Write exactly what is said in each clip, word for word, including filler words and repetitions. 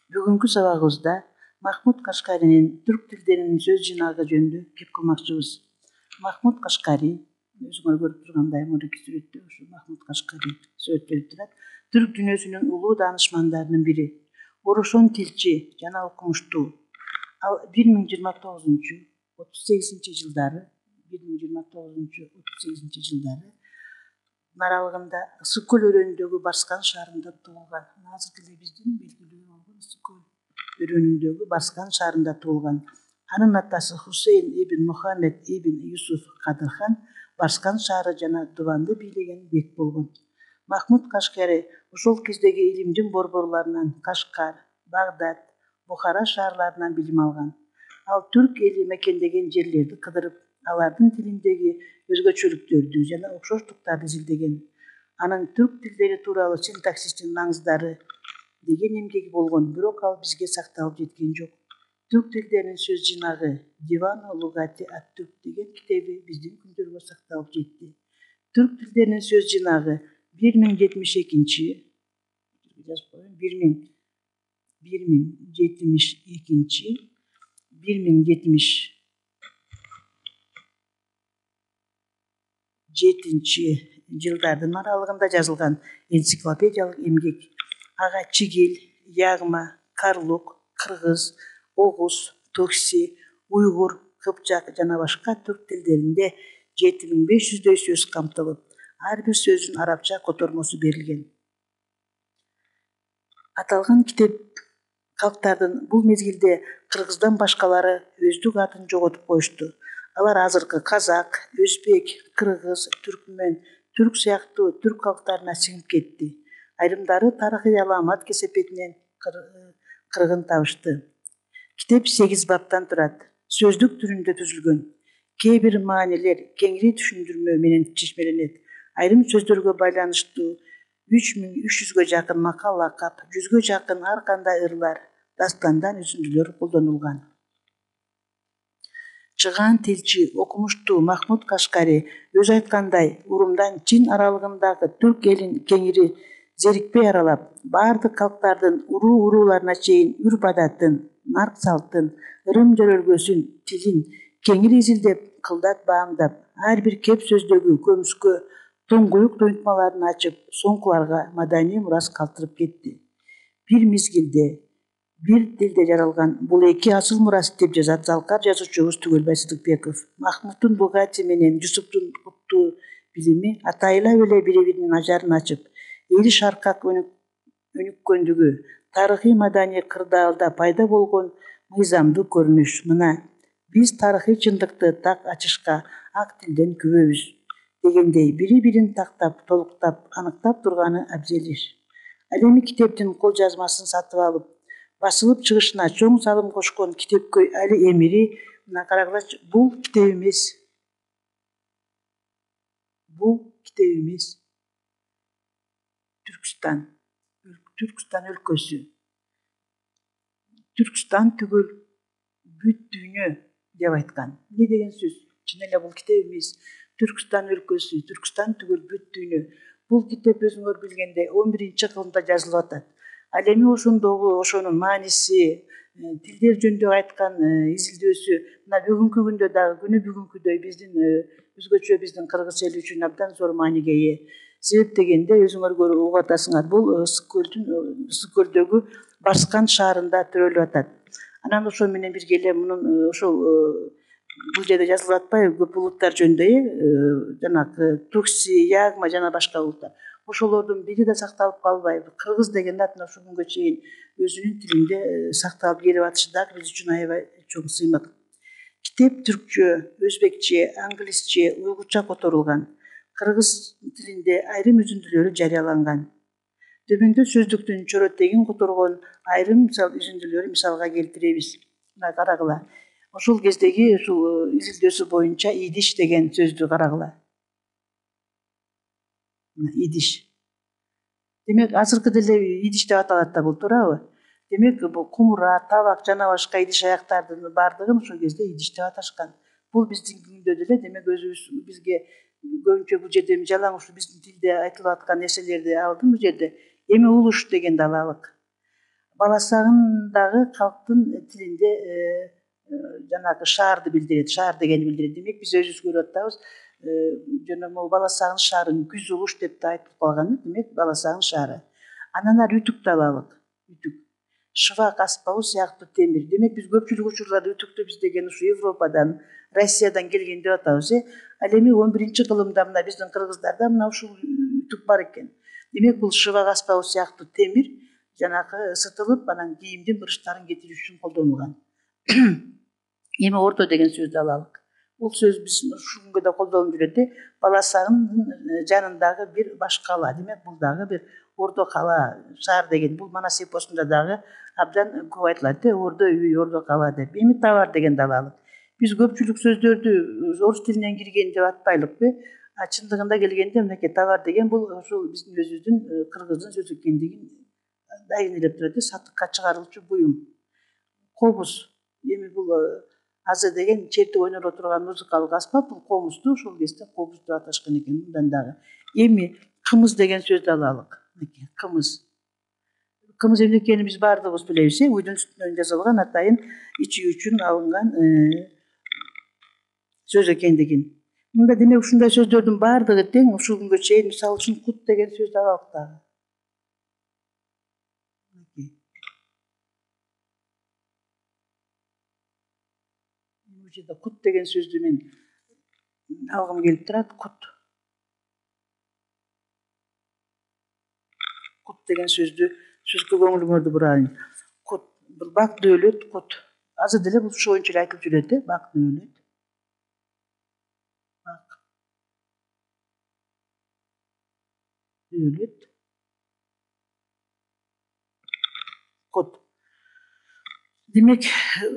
Бүгүнкү сабагыбызда Махмуд Кашкаринин түрк тилдеринин сөз жыйнагы жөнүндө кеп кылмакчыбыз. Махмуд Кашкари, өзүңөр көрүп тургандай мурунку сүрөттө ушу Махмуд Кашкари сүрөттөлүп турат. Түрк дүйнөсүнүн улуу даанышмандарынын бири, орошон тилчи жана окумуштуу. Ал бир миң жыйырма тогузунчу отуз сегизинчи жылдары, бир миң жыйырма тогузунчу отуз сегизинчи жылдары аралыгында Ысык көл өрөөнүндөгү Барскан шаарында туулган. Азыркы эле биздин белгилүү болгон Ысык көл өрөөнүндөгү Барскан шаарында туулган. Анын атасы Хусейн ибн Мухаммед ибн Юсуф Кадырхан Барскан шаары жана Дуванды бийлеген бек болгон. Махмуд Кашкари ошол кездеги илимдин борборлорунан Кашкар, Багдад, Бухара шаарларынан билим алган. Ал түрк эли мекендеген жерлерди кыдырып, алардын тилиндеги өзгөчөлүктөрдү жана окшоштуктарды изилдеген. Анын түрк тилдери тууралуу синтаксистин маңыздары деген эмгеги болгон, бирок ал бизге сакталып жеткен жок. Түрк тилдеринин сөз жыйнагы Диван Лугати ат-Түрк деген китеби биздин күндөргө сакталып жетти. Түрк тилдеринин сөз жыйнагы бир миң жетимиш экинчи бир миң бир миң жетимиш экинчи бир миң жетимиш жетинчи жылдардын аралыгында жазылган энциклопедиялык эмгек. Ага чигил, ягма, карлук, кыргыз, огуз, токси, уйгур, кыпчак жана башка түрк тилдеринде жети миң беш жүздөй сөз камтылып, ар бир сөздүн арабча котормосу берилген. Аталган китеп калктардын бул мезгилде кыргыздан башкалары өздүк атын жоготуп коюшту. Алар азыркы казак, өзбек, кыргыз, түркмөн, түрк сыяктуу түрк калктарына сиңип кетти. Айрымдары тарыхый алаамат кесепетинен кыргын табышты. Китеп сегиз баптан турат. Сөздүк түрүндө түзүлгөн. Кээ бир маанилер кеңири түшүндүрмө менен чечмеленет. Айрым сөздөргө байланыштуу үч миң үч жүзгө жакын макал лакап, жүзгө жакын ар кандай ырлар, дастандан үзүндүлөр колдонулган. Чыгаан тилчи, окумуштуу Махмуд Кашкари өзү айткандай, Урумдан Чин аралыгындагы түрк элин кеңири зерикпей аралап, баардык калктардын уруу-урууларына чейин үрп-адатын, нарк-салтын, ырым-жөрөлгөсүн, тилин кеңири изилдеп, кылдат баамдап, ар бир кеп сөздөгү көмүскө, туңгуюк туйунтмаларын ачып, соңкуларга маданий мурас калтырып кетти. Бир мезгилде бир тилде жаралган бул эки асыл мурас деп жазат залкар жазуучубуз Түгөлбай Сыдыкбеков. Махмуддун Бугати менен Жусуптун куттуу билими атайылап эле бири-биринин ажарын ачып, эли шаркак өнүккөндүгү, тарыхый маданий кырдаалда пайда болгон мыйзамдуу көрүнүш. Мына, биз тарыхый чындыкты так ачышка ак тилден күбөбүз дегендей бири-бирин тактап, толуктап, аныктап турганы абзел иш. Ал эми китептин кол жазмасын сатып алып, басылып чыгышына чоң салым кошкон китепкөй Али Эмири, мына карагылачы, бул китеп эмес. Бул китеп эмес. Түркстан, Түркстан өлкөсү. Түркстан түгүл бүт дүйнө деп айткан. Эмне деген сөз? Чын эле бул китеп эмес. Түркстан өлкөсү, Түркстан түгүл бүт дүйнө. Бул китеп өзүңөр билгендей он биринчи кылымда жазылып атат. Ал эми ошондогу ошонун мааниси, тилдер жөнүндө айткан изилдөөсү мына бүгүнкү күндө дагы күнү бүгүнкүдөй биздин өзгөчө биздин кыргыз эли үчүн абдан зор мааниге ээ. Себеп дегенде өзүңөр көрүп угуп атасыңар, бул Ысык көлдүн Ысык көлдөгү Барскан шаарында төрөлүп атат. Анан ошо менен бирге эле мунун ошол бул жерде жазылып атпайбы көп улуттар жөнүндө, э, жанагы Тукси, Ягма жана башка улуттар. Ошолордун бири да сакталып калбайбы? Кыргыз деген ат ушул күнгө чейин өзүнүн тилинде сакталып келип атышы дагы биз үчүн аябай чоң сыймык. Китеп түркчө, өзбекче, англисче, уйгурча которулган. Кыргыз тилинде айрым үзүндүлөрү жарыяланган. Төмөндө сөздүктүн чоротегин которгон айрым мисал үзүндүлөрү мисалга келтиребиз. Мына карагыла. Ошол кездеги ушул изилдөөсү боюнча идиш деген сөздү карагыла. Идиш. Демек, азыркы деле идиш деп аталат да бул, туурабы? Демек, бул кумура, табак жана башка идиш аяктардын баардыгын ошол кезде идиш деп аташкан. Бул биздин күндө деле демек өзүбүз бизге көбүнчө бул жерде жалаң ушу биздин тилде айтылып аткан нерселерди алдым бул жерде. Эми улуш дегенди алалык. баласагын дагы калктын тилинде жанагы шаарды билдирет, шаар дегенди билдирет. Демек биз өзүбүз көрүп атабыз, жана могу баласагын шаарын күз угуш деп да айтылып калган. Демек баласагын шаары. Анан ары үтүктү алалык. Үтүк. Шыбак аспабы сыяктуу темир. Демек биз көпчүлүк учурларда үтүктү биз деген ушу Европадан, Россиядан келген деп атабыз. Ал эми он биринчи кылымда мына биздин кыргыздарда мына ушул үтүк бар экен. Демек бул шыбак аспабы сыяктуу темир жанагы ысытылып, анан кийимдин бырыштарын кетириш үчүн колдонулган. Эми ордо деген сөздү алалык. Бул сөз биз ушул күнгө да колдонулуп жүрөт. Баласагындын жанындагы бир баш кала. Демек бул дагы бир ордо кала, шаар деген. Бул Манас эпосунда дагы абдан көп айтылат. Ордо үй, ордо кала деп. Эми товар дегенди алалык. Биз көпчүлүк сөздөрдү орус тилинен кирген деп атпайлыкпы? А чындыгында келгенде мынакей товар деген бул ошол биздин өзүбүздүн кыргыздын сөзү экендигин дайындап турат. Сатыкка чыгарылчу буюм. Кобуз. Эми бул азы деген чертип ойноро турган музыкалык аспап, бул комузду ошол кезде кобуз деп аташкан экен мындан дагы. Эми кымыз деген сөздү алалык. Мынакей кымыз. Кымыз эмне экенин биз баардыгыбыз билебиз. Уйдун сүтүнөн жасалган атайын ичүү үчүн алынган сөз экендигин. Мында демек ушундай сөздөрдүн баардыгы тең ушул күнгө чейин, мисалы үчүн кут деген сөздү алалык дагы. Бул жерде кут деген сөздү мен алгым келип турат. Кут. Кут деген сөздү сөзгө көңүлүңөрдү бурайын. Кут. Бул бак дөөлөт кут. Азыр деле бул ушу боюнча эле айтылып жүрөт. Бак дөөлөт. Бак. Дөөлөт. Кут. Демек,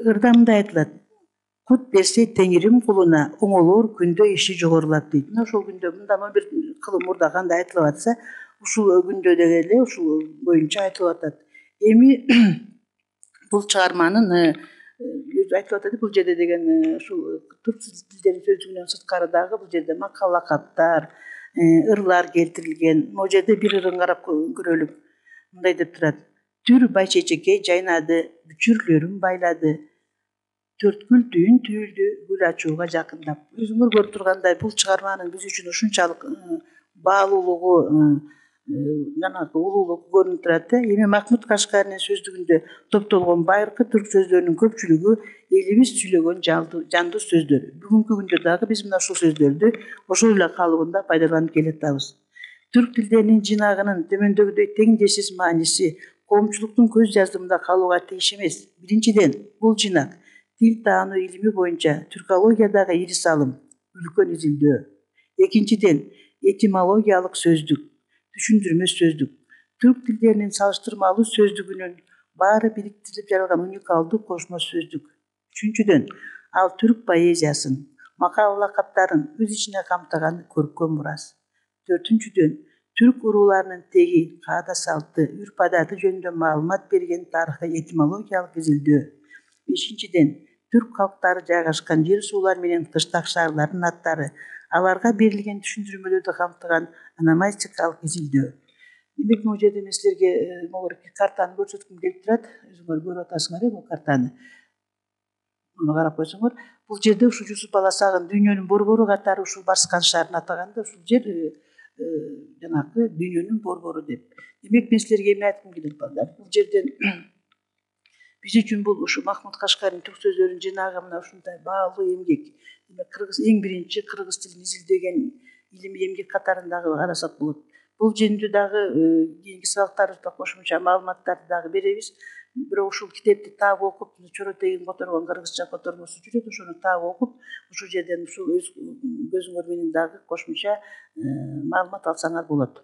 ырда мындай айтылат. Кут берсе теңирим кулуна, оңолор күндө иши жогорулап дейт. Мына ошол күндө мындан он бир кылым мурда кандай айтылып атса, ушул күндө деле ушул боюнча айтылып атат. Эми бул чыгарманын өзү айтылып атат, бул жерде деген ушул түрк тилдеринин сөздүгүнөн сырткары дагы бул жерде макал лакаптар, ырлар келтирилген. Могу жерде бир ырын карап көрөлүк. Мындай деп турат. Түр байчечекей жайнады, бүчүрлөрүн байлады. Төрткүл түйүн түйүлдү, гүл ачууга жакындап. Өзүңөр көрүп тургандай, бул чыгарманын биз үчүн ушунчалык баалуулугу, жанагы улуулугу көрүнүп турат. Эми Махмуд Кашкаринин сөздүгүндө топтолгон байыркы түрк сөздөрүнүн көпчүлүгү элибиз сүйлөгөн жандуу сөздөр. Бүгүнкү күндө дагы биз мына ушул сөздөрдү ошол эле калыбында пайдаланып келатабыз. Түрк тилдеринин жинагынын төмөндөгүдөй теңдешсиз мааниси коомчулуктун көз жаздымында калууга тийиш эмес. Биринчиден, бул жинак тил таануу илими боюнча түркологиядагы ири салым, үлкөн изилдөө. Экинчиден, этимологиялык сөздүк, түшүндүрмө сөздүк. Түрк тилдеринин салыштырмалуу сөздүгүнүн баары бириктирилип жаралган уникалдуу кошмо сөздүк. Үчүнчүдөн, ал түрк поэзиясын, макал лакаптарын өз ичине камтыган көркөм мурас. Төртүнчүдөн, түрк урууларынын теги, каада салты, үрп адаты жөнүндө маалымат берген тарыхый этимологиялык изилдөө. Бешинчиден, түрк калктары жайгашкан жер суулар менен кыштак шаарлардын аттары, аларга берилген түшүндүрмөлөрдү камтыган ономастикалык изилдөө. Демек, могу жерде мен силерге могу картаны көрсөткүм келип турат. Өзүңөр көрүп атасыңар бул картаны. Муну карап койсоңор, бул жерде ушул Жусуп Баласагын дүйнөнүн борбору катары ушул Барскан шаарын атаган да ушул жер жанагы дүйнөнүн борбору деп. Демек, мен силерге эмне айткым келет балдар? Бул жерден биз үчүн бул ушу Махмуд Кашкаринин түрк сөздөрүнүн жинагы мына ушундай баалуу эмгек. Демек, кыргыз эң биринчи кыргыз тилин изилдеген илимий эмгек катарындагы карасак болот. Бул жөнүндө дагы кийинки сабактарыбызда кошумча маалыматтарды дагы беребиз. Бирок ушул китепти таап окуп, чоротегин которгон кыргызча котормосу жүрөт, ошону таап окуп, ушул жерден ушул өз көзүңөр менен дагы кошумча маалымат алсаңар болот.